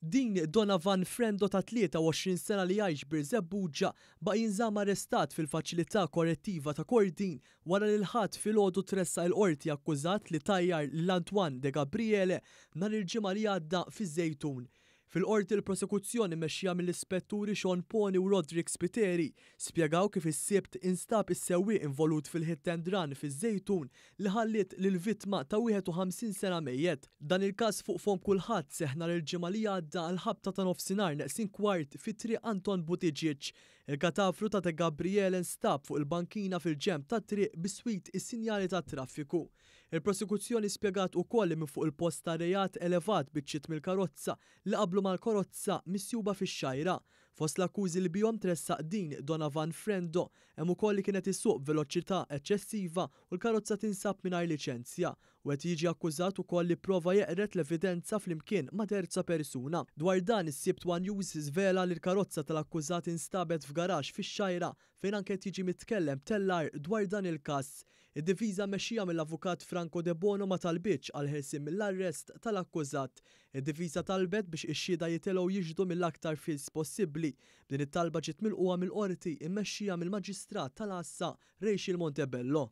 Dean Donovan Frendo ta' 23 sena li jgħix Birżebbuġa baqa' jinżamm arrestat fil-Faċilità Korrettiva ta' Kordin wara li l-Ħadd filgħodu tressaq il-Qorti akkużat li tajjar lil Antoine Degabriele nhar il-Ġimgħa li għadda fiż-Żejtun. Fil-Qorti l-Prosekuzzjoni mmexxija mill-Ispetturi Sean Poni u Roderick Spiteri spjegaw kif is-Sibt instab is-sewwieq involut fil-hit and run fiż-Żejtun li ħalliet lill-vittma ta' 51 sena mejjet. Dan il-każ fuq fomm kulħadd seħħ nhar il-Ġimgħa li għadda għall-ħabta ta' nofsinhar neqsin kwart fi Triq Anton Buttigieg. Il-katavru ta' Degabriele nstab fuq il-bankina fil-ġenb tat-triq biswit is-sinjali tat-traffiku. Il-Prosekuzzjoni spjegat ukoll li minn fuq il-post tar-reat elevat biċċiet mill-karozza li qablu mal-karozza misjuba fix-Xgħajra. Fost l-akkużi li bihom tressaq Dean Donovan Frendo hemm ukoll li kien qed isuq b'veloċità eċċessiva u l-karozza tinsab mingħajr liċenzja u qed jiġi akkużat ukoll li pprova jeqred l-evidenza flimkien ma' terza persuna. Dwar dan, is-Sibt one News żvela li l-karozza tal-akkużat instabet f'garaxx fix-Xgħajra fejn anke qed jiġi mitkellem tellar dwar dan il-każ. Id-difiża mmexxija mill-Avukat Franco Debono ma talbitx għall-ħelsien mill-arrest tal-akkużat. Id-difiża talbet biex ix-xhieda jitilgħu jixhdu mill-aktar fis possibbli. B'din it-talba ġiet milqugħa mill-Qorti mmexxija mill-Maġistrat tal-Għassa Rachel Montebello.